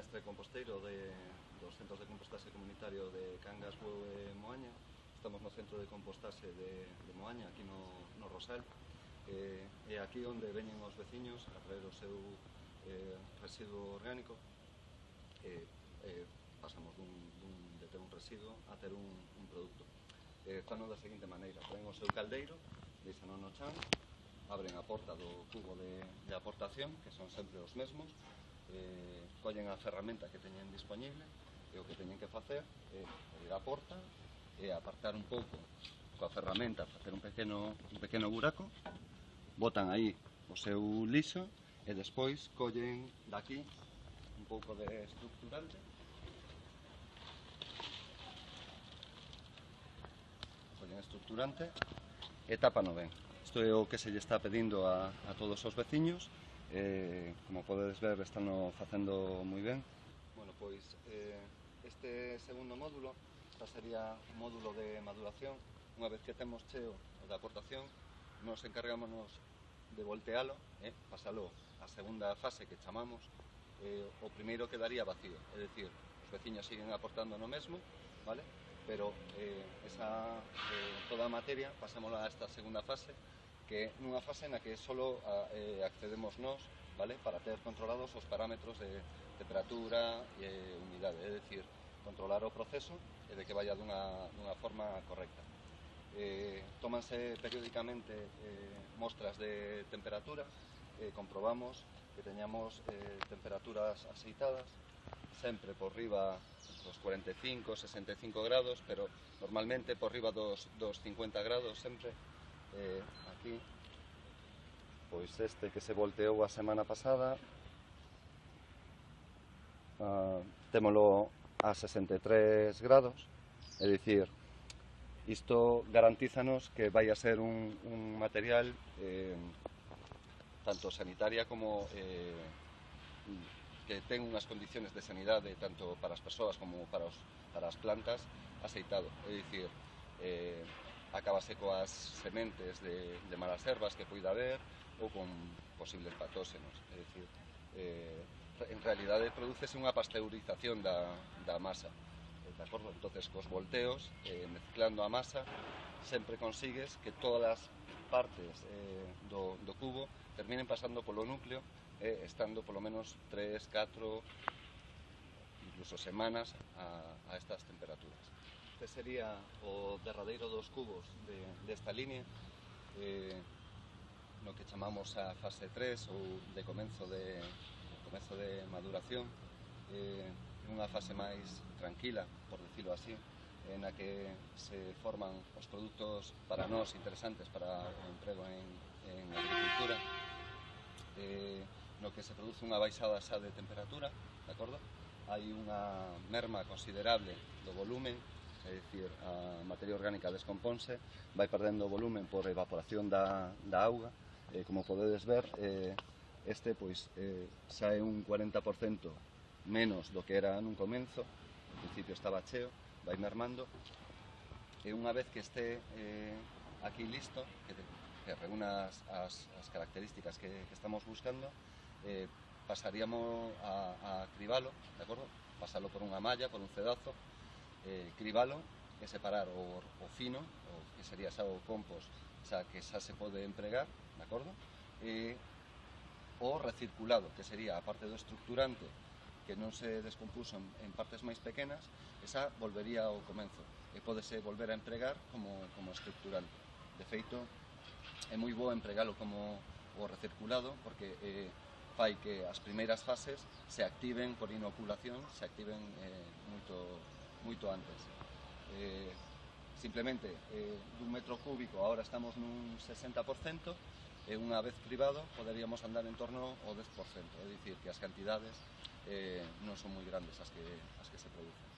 mestre composteiro dos centros de compostaxe comunitario de Cangas, Bueu e Moaña. Estamos no centro de compostaxe de Moaña, aquí no Rosal. E aquí onde veñen os veciños a traer o seu residuo orgánico. Pasamos de ter un residuo a ter un produto. Fano da seguinte maneira: traen o seu caldeiro, deixano no chan, abren a porta do cubo de aportación, que son sempre os mesmos, collen a ferramenta que teñen disponible, e o que teñen que facer é abrir a porta e apartar un pouco coa ferramenta, facer un pequeno buraco, botan aí o seu lixo e despois collen daqui un pouco de estructurante, e tápano ben. Isto é o que se lle está pedindo a todos os veciños. Como podedes ver, están facendo moi ben. Bueno, pois este segundo módulo, esta sería un módulo de maduración. Unha vez que temos cheo o de aportación, nos encargámonos de voltealo, pasalo a segunda fase que chamamos. O primeiro quedaría vacío, é dicir, os veciños siguen aportando no mesmo, vale? Pero toda a materia pasámola a esta segunda fase, que é nunha fase na que só accedemos nós, vale? Para ter controlados os parámetros de temperatura e humidade, é dicir, controlar o proceso e de que vaya dunha forma correcta. Tómanse periódicamente mostras de temperatura, comprobamos que teñamos temperaturas aceitadas, sempre por riba dos 45, 65 grados, pero normalmente por riba dos 50 grados sempre. Aquí, pois este que se volteou a semana pasada, témolo a 63 grados, é dicir, isto garantízanos que vai a ser un material tanto sanitaria como que ten unhas condiciones de sanidade tanto para as persoas como para as plantas aceitado, é dicir, acabase coas sementes de malas ervas que poida haber ou con posibles patóxenos, é dicir, en realidade producese unha pasteurización da masa, de acordo? Entonces, cos volteos, mezclando a masa, sempre consigues que todas as partes do cubo terminen pasando polo núcleo, estando polo menos 3, 4, incluso semanas a estas temperaturas. Este sería o derradeiro dos cubos desta línea, no que chamamos a fase 3 ou de comezo de maduración, unha fase máis tranquila, por decirlo así, na que se forman os produtos para nós interesantes para o emprego en agricultura, no que se produce unha baixada xa de temperatura, de acordo? Hai unha merma considerable do volumen, é dicir, a materia orgánica descomponse, vai perdendo volumen por evaporación da auga. Como podedes ver, este xa é un 40% menos do que era nun comenzo, ao principio estaba cheo, vai mermando, e unha vez que este aquí listo, que reúna as características que estamos buscando, pasaríamos a cribalo, de acordo? Pasalo por unha malla, por un cedazo, cribalo e separar o fino, o que sería xa o compost, xa que xa se pode empregar, de acordo? E o recirculado, que sería a parte do estructurante que non se descompuso en partes máis pequenas, esa volvería ao comenzo e pódese volver a empregar como estructurante. De feito, é moi bo empregalo como o recirculado porque fai que as primeiras fases se activen por inoculación, se activen moito antes. Simplemente, dun metro cúbico, agora estamos nun 60%, e unha vez cribado poderíamos andar en torno ao 10%, é dicir, que as cantidades non son moi grandes as que se producen.